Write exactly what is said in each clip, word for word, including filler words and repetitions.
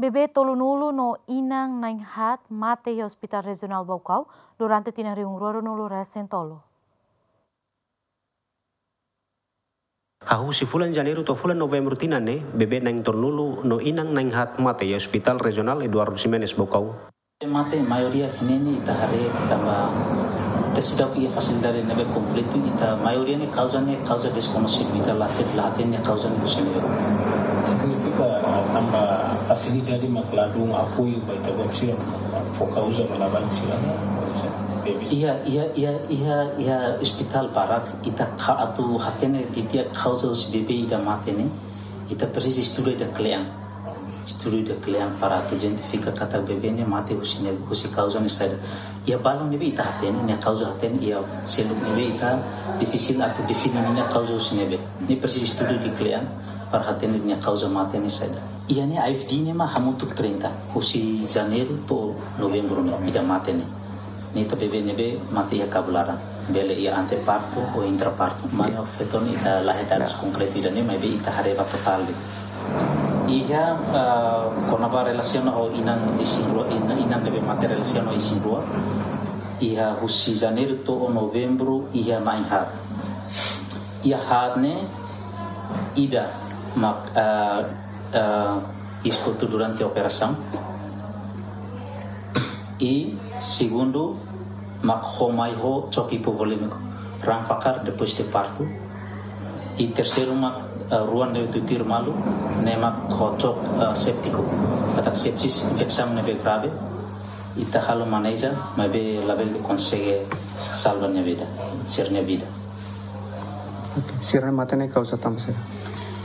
Bebé tolunulu no inan na'in-haat mate iha Hospital Rejionál Baucau durante tinan rihun rua ruanulu resin tolu. Hahú husi fulan Janeiru to'o fulan Novembru tinan ne'e, bebé na'in tolunulu no inan na'in-haat mate iha Hospital Rejionál Eduardo Ximenes Baucau. Mate maioria ne'e ita haree tanba ita seidauk iha fasilidade ne'ebé kompletu, ita maioria ne'e kauza ne'e kauza deskoñesidu, ita la hatene, la hatene kauza ne'e husi ne'ebé. Signifika, ah, tanba fasilidade mak ladún apoiu ba ita-boot sira, fó kauza ba labarik sira, bebé sira. Iha, iha, iha, iha, iha ospitál barak, ita ka atu hatene didi'ak kauza husi bebé ida mate ne'e, ita presiza estuda ida kle'an. Estuda ida kle'an para atu identifika katak bebé ne'e mate husi ne'e, husi kauza ne'e saida. Iha balun ne'ebé ita hatene, nia kauza hatene, iha seluk ne'ebé ita difisil atu define nia kauza husi ne'ebé. Ne'e presiza estuda ida kle'an para hatene nia kauza mate ne'e saida. Iha ne'e I F D ne'e mak hamutuk trinta, husi Janeiru to'o Novembru ne'e, ida mate ne'e. Ne'e ita bebé ne'ebé mate iha kabun laran. Bele iha antepartu ou intrapartu. Mane ou feto ne'e ita la hetan dados konkretu ida-ne'e, maibé ita haree ba totál de'it. Iha, ah, kona-ba relasiona ho inan isin-rua, inan, inan ne'ebé mate relasiona ho isin-rua. Iha husi Janeiru to'o Novembru iha na'in-haat. Iha haat ne'e ida mak, ah, ah, iis kotuk durante operasaun. I segundu mak ho mai ho choque hipovolémico, raan fakar depois de parto. I terseiru mak, eh, rua ne'e tutuir malu, ne'e mak ho choque, eh, séptico. Katak sepsis, infesaun ne'ebé grave, ita halo maneja, maibé labele konsege salva nia vida, sira-nia vida. Oke, sira-ne'e mate ne'e kauza tanba saida?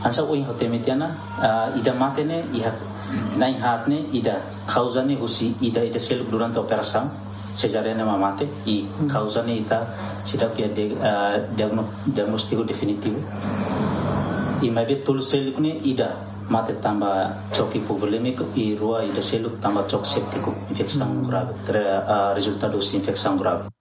Hanesan ohin ha'u temi tiha ona, ah, ida mate ne'e iha na'in-haat ne'e ida kauza ne'e husi ida, ida seluk durante operasaun, sezareana mak mate, i kauza ne'e ita seidauk iha de-, ah, diagno-, diagnóstiku definitivu. I maibé tolu seluk ne'e ida mate tanba choque hipovolémico, i rua ida seluk tanba choque séptico, infesaun grave, tre-, ah, rezultadu husi infesaun grave.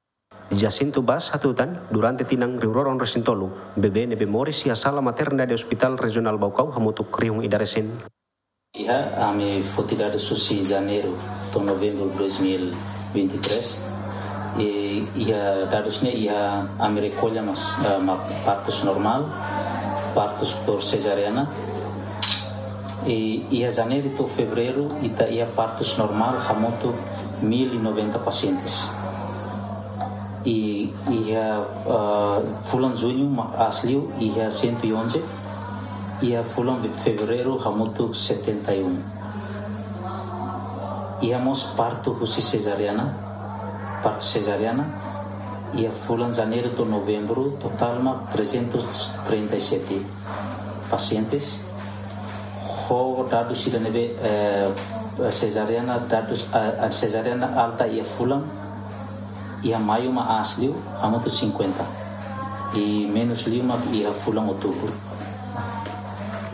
Jacinto Vaz hatutan, durante tinan rihun rua ruanulu resin tolu, bebé ne'ebé moris iha sala maternidade Hospital Rejionál Baucau hamutuk rihun ida resin. Iha, ami foti dadus husi Janeiru to'o Novembru dois mil vinte e três. I iha dadus ne'e iha ami rekolla mak, eh, mak partus normál, partus por sezareana. I iha Janeiru to'o Fevereiru ita iha partus normál hamutuk mil e noventa pacientes. I iha, ah, fulan Juñu mak aas liu iha cento e onze, iha fulan Fevereiru hamutuk setenta e um. Iha mós partu husi sezareana, partu sezareana, iha fulan Janeiru to'o Novembru totál mak trezentos trinta e sete pacientes. Ho dadus ida ne'ebé, eh, sezareana, dadus, eh, sezareana alta iha fulan, iha Maiu mak aas liu, hamutuk cinquenta. I menus liu mak iha fulan Outubru.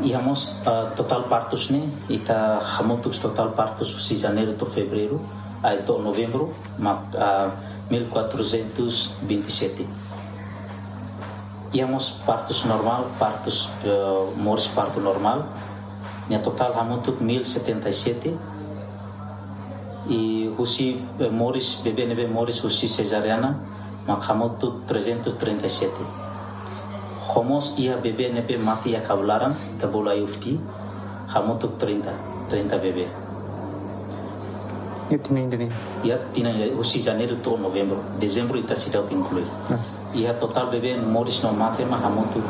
Iha mós, eh, totál partus ne'e, ita hamutuk totál partus husi Janeiru to'o Fevereiru, ai to'o Novembru, mak, ah, mil quatrocentos vinte e sete. Iha mós partus normál, partus, eh, moris partu normál. Nia totál hamutuk mil setenta e sete. I husi, eh, moris, bebé ne'ebé moris husi sezareana, mak hamutuk trezentos trinta e sete. Ho mós iha bebé ne'ebé mate iha kabun laran, ita bolu I F D, hamutuk trinta, trinta bebé. Iha tinan ida-ne'e? Iha tinan ida, husi Janeiru to'o Novembru. Dezembru ita seidauk inklui. Ah. Iha totál bebé moris no mate mak hamutuk,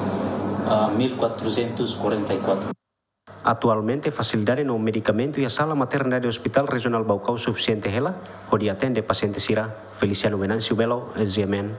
ah, mil quatrocentos quarenta e quatro. Atualmente, fasilidade no medikamentu iha sala maternidade Hospital Rejionál Baucau sufisiente hela hodi atende pasiente sira. Feliciano Venâncio Belo, G M N.